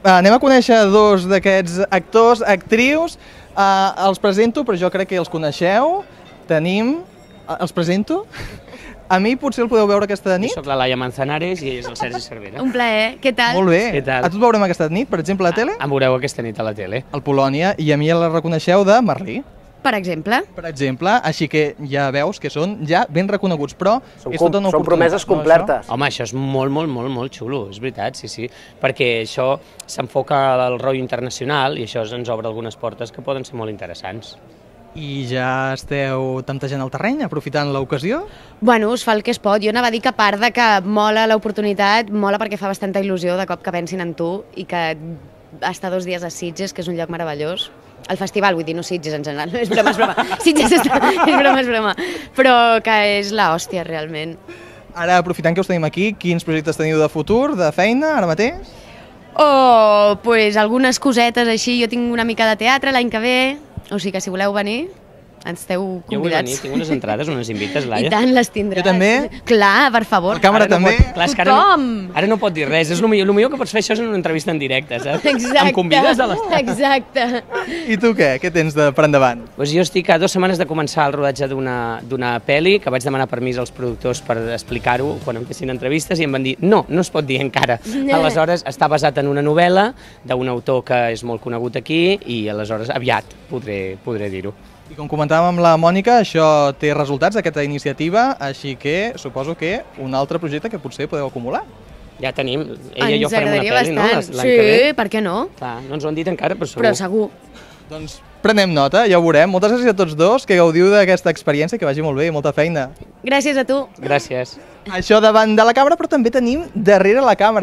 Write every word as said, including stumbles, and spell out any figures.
Anem a conèixer dos d'aquests actors, actrius. Uh, els presento, però jo crec que els coneixeu. Tenim... Uh, els presento? A mi potser el podeu veure aquesta nit? Jo soc la Laia Manzanares i ell és el Sergi Cervera. Un plaer, què tal? Molt bé. Què tal? A tu et veurem aquesta nit, per exemple, a la tele? Em veureu aquesta nit a la tele. Al Polònia, i a mi la reconeixeu de Merlí, Per exemple. per exemple, així que ja veus que són ja ben reconeguts, però Són, és com, tota una són oportunitat, promeses no, complertes. Home, això és molt, molt, molt, molt xulo, és veritat, sí, sí. Perquè això s'enfoca al rotllo internacional i això ens obre algunes portes que poden ser molt interessants. I ja esteu temptejant el terreny, aprofitant l'ocasió? Bueno, us fa el que es pot. Jo anava a dir que a part de que mola l'oportunitat, mola perquè fa bastanta il·lusió de cop que pensin en tu i que estar dos dies a Sitges, que és un lloc meravellós. El festival, vull dir, no Sitges en general, no, és broma, és broma. Sitges està, és broma, és broma. Però que és l'hòstia, realment. Ara, aprofitant que us tenim aquí, quins projectes teniu de futur, de feina, ara mateix? O, pues, algunes cosetes així. Jo tinc una mica de teatre l'any que ve, o sigui que si voleu venir, ens esteu Jo vull venir, convidats. tinc unes entrades, unes invites, Laia. I tant, les tindràs. Jo també. Clar, per favor. La càmera Ara no també? pot- Clar, és que ara no, Tothom. ara no pot dir res, és el millor, el millor que pots fer això és una entrevista en directe, saps? Exacte. Em convides a l'estat? Exacte. I tu què? Què tens de, per endavant? Pues jo estic a dues setmanes de començar el rodatge d'una d'una pel·li, que vaig demanar permís als productors per explicar-ho quan em fessin entrevistes i em van dir no, no es pot dir encara. Aleshores, està basat en una novel·la d'un autor que és molt conegut aquí i aleshores aviat podré, podré dir-ho. I com comentàvem amb la Mònica, això té resultats, aquesta iniciativa, així que suposo que un altre projecte que potser podeu acumular. Ja tenim, ella i jo Ens farem una agradaria pel·li, no? bastant. L'any que ve. Sí, per què no? Clar, no ens ho han dit encara, però segur. Però segur. Doncs prenem nota, ja ho veurem. Moltes gràcies a tots dos, que gaudiu d'aquesta experiència, que vagi molt bé, molta feina. Gràcies a tu. Gràcies. Això davant de la càmera, però també tenim darrere la càmera.